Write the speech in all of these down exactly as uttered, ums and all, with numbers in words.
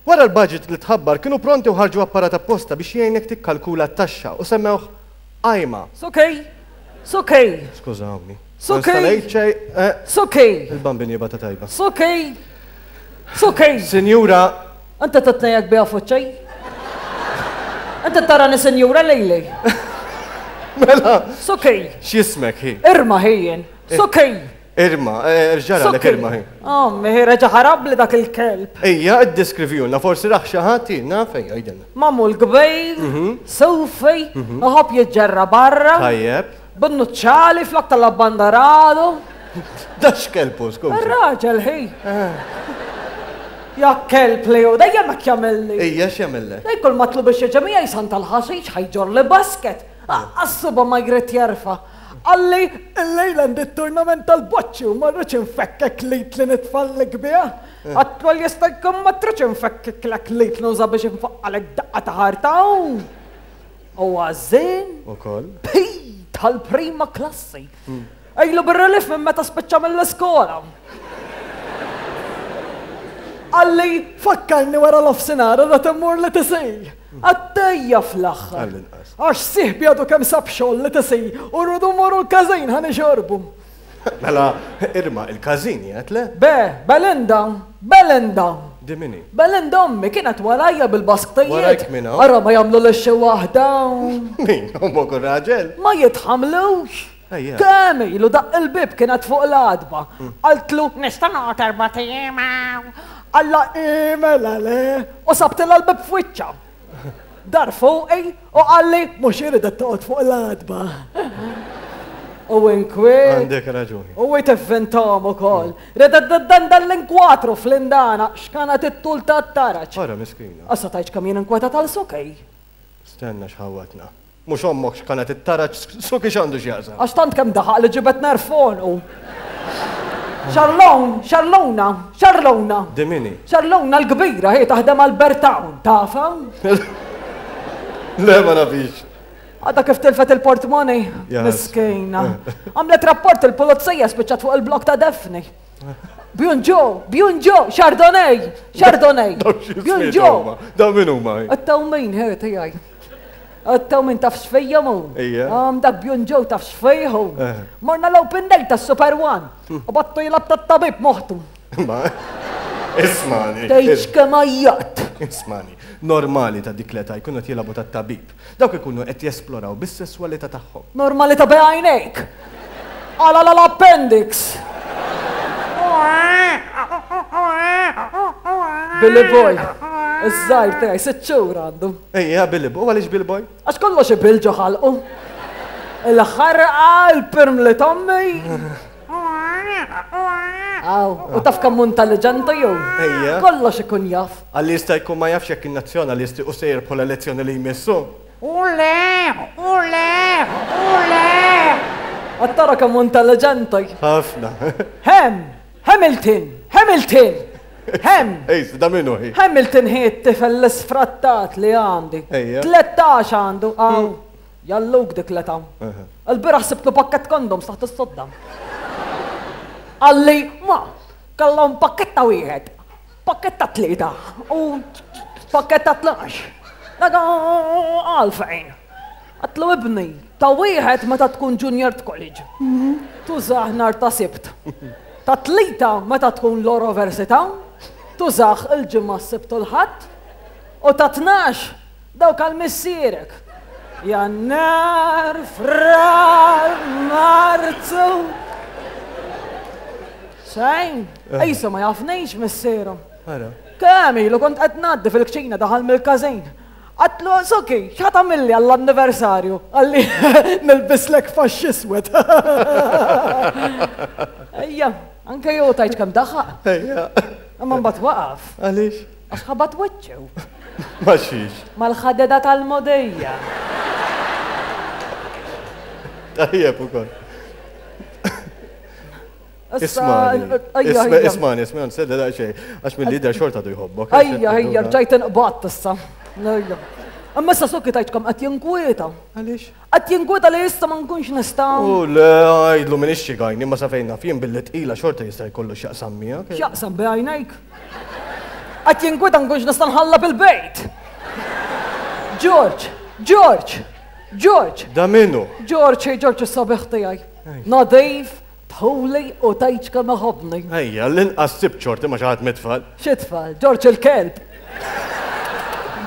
Wara l-budget li tħabbar kienu pronti u ħarġu apparat apposta biex jgħinek tikkalkula t-taxxa u semmewh Ajma. Sokej, sokej, Skużawni. Sokej. Ma nista' ngħid xejn, eh, sokej, il-bambin jibgħatha tajba. Sokej, sokej. Sinjura, Anta tatnejak biha fuċċej? Anta tarani sinjura lejli? Mela, Sokej, x'jismek hi? Irma ħijin, sokej. Irma, eh, ġara lek Sokej. Irma hi. Ommi, reġa ħarab li dak il-kelb. Ejja, iddeskrivijulna, forsi raħ xi ħadd, naf, ejja, għidilna. Mamul kbir, sufi, uħob jiġġerra barra, Tajjeb. bin-nuċċali flok tal-abbandaradu. Da x'kelbu, skużi. Ir-raġel ħi. Ja kelb li hu, dejjem hekk jagħmilli. Ejja, x'jagħmillek? Dej kull matlu biex jiġi miegħi san tal-ħaxix ħajġor li basket. Assuba ma jrid jerfa'. Qalli, illejla għandi t-tournament tal-boċċi u ma rridx infekkek lit li nitfallek biha. Għatlu jista' jkun ma tridx infekkek lek lit nuża biex infaqqalek daqqa ta' ħarta. U għażin Ukoll. Pi tal-prima klassi. Ejlu bir-relief minn meta spiċċa mill-iskola. Qalli, fakkarni wara l-offsinar da temmur li tisi. Għattejja fl-aħħar. Għall-inqas. Għax siħbi għadu kemm sab xogħol li tisi u rridu mmorru l-każin ħa nixorbu. Mela, Irma, il-każin jgħid le? Be, Belinda, Belinda. Dimini. Belinda ommi kienet warajja bil-basktijiet. Warajk min hawn? Ara ma jagħmlu l xi waħda. Min, ommok u raġel? Ma jitħamlux. Ejja. Kemm ilu daq il-bib kienet fuq l-għatba. Qaltlu, nista' noqgħod erba' ijiem hawn. Alla mela le. U sabtilha l-bib f'wiċċha. Dar fuqi u qalli, mhux iridet toqgħod fuq l-għatba. U inkwiet. Għandek raġuni. U jtivvintom ukoll. Redet dan dan l-inkwatru fl-indana, x'kanat it-tul tat-taraġ. Ora, miskina. Issa tajċ kemm jien inkwetat għal sokej. Stenna x'ħawatna. Mhux ommok x'kanat it-taraġ, suki x'għandu x'jaqsam. Għax tant kemm daħaq li ġibet nerfon u. Xarlon, Xarlona, Xarlona. Dimini. Xarlona l-kbira, hi taħdem għal Bertown, tafa? Le, ma nafix. Għadha kif tilfet il-portmoni, Yes. miskina. Għamlet rapport il-pulizija spiċċat fuq il-blok ta' Defni. Bjunġo, Bjunġo, Chardonnay, Chardonnay. Daw x'ismiet Bjunġo. huma. Daw min huma? Għattaw min, ħe, tijaj. Għattaw min taf xfejja mu. Ejja. Għam dak Bjunġo taf xfejħu. Eh. Morna l-open day ta' Super One. U battu jilab ta' tabib moħtu. Ma, ismani. Tgħidx kemm għajjat. Ismani, normali ta' dik l-età jkunu qed jilagħbu tat-tabib. Dawk ikunu qed jesploraw bis-sesswalità tagħhom. Normali ta' bejgħajnejk. Għala l-appendix. Billy Boy, iż-żgħir tiegħi sitt xhur għandu. Ejja, Billy Boy, għaliex Billy Boy? Għax kollox ibil ġo ħalqu. Il-ħarqa, il-pirm li tommi. Aw, u taf kemm hu intelligenti jew? Ejja. Kollox ikun jaf. Għalli jista' jkun ma jafx jekk in-nazzjonalisti u se jirbħu l-elezzjoni li jmissu. Ule, ule, ule. Għattara kemm hu intelligenti. Ħafna. Hem, Hamilton, Hamilton, Hem. Ej, da minnu hi. Hamilton hi t-tifel l-isfrattat li għandi. Ejja. Tlettax għandu, għaw. Jalluk dik l-età. Aha. Il-bieraħ sibtlu pakket kondoms taħt is-sodda. Qalli, ma, kellhom pakketta wieħed, pakketta tlieta u pakketta tnax. Daga għalfejn. Għatlu ibni, ta' wieħed meta tkun junior college. Tużaħ nar ta' sibt. Ta' tlieta meta tkun l-università, tużaħ il-ġimgħa s-sibt u l-ħadd. U ta' tnax dawk għal missierek. Jannar, frar, marzu. Xejn, ejsa ma jafnix missieru. Ara. Kemm ilu kont qed ngħaddi fil-kċina daħal mill-każin. Għatlu, Suki, x'ħa tagħmilli għall-anniversarju? Qalli, nilbislek faxx iswed. Ejja, anke jew tajt kemm daħaq. Ejja. Imma mbagħad waqaf. Għaliex? Għax ħabat wiċċu Ma xiex. mal-ħadeda tal-modejja. Tajjeb ukoll. Issa, Ismani. ejja, Isma- ejja. Ismani, ismani, sedda daqsxejn. Għax mill-lider xorta du jħobbok. Ejja, ejja, rġajt inqbatt issa. Ejja. Imma issa Suki tajtkom qed jinkwieta. Għaliex? Qed jinkwieta li issa ma nkunx nista'. U le, għajdlu minn ixxi għajni, ma sa fejn naf jien billi tqila xorta jista' jkollu x'jaqsam miegħek. X'jaqsam bejgħajnejk? Qed jinkwita nkunx nista' nħalla bil-bejt. George, George, George. Da minnu? George, George is-sabiħ tiegħi. Nadif, tħuli u tgħidx kemm iħobbni. Ejja, l-inqas sib ċorti ma xi ħadd mit-tfal. Xi tfal, George il-kelb.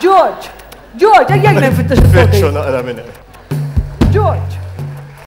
George, George, ejja nfittex Fittxu naqra minn hemm. George.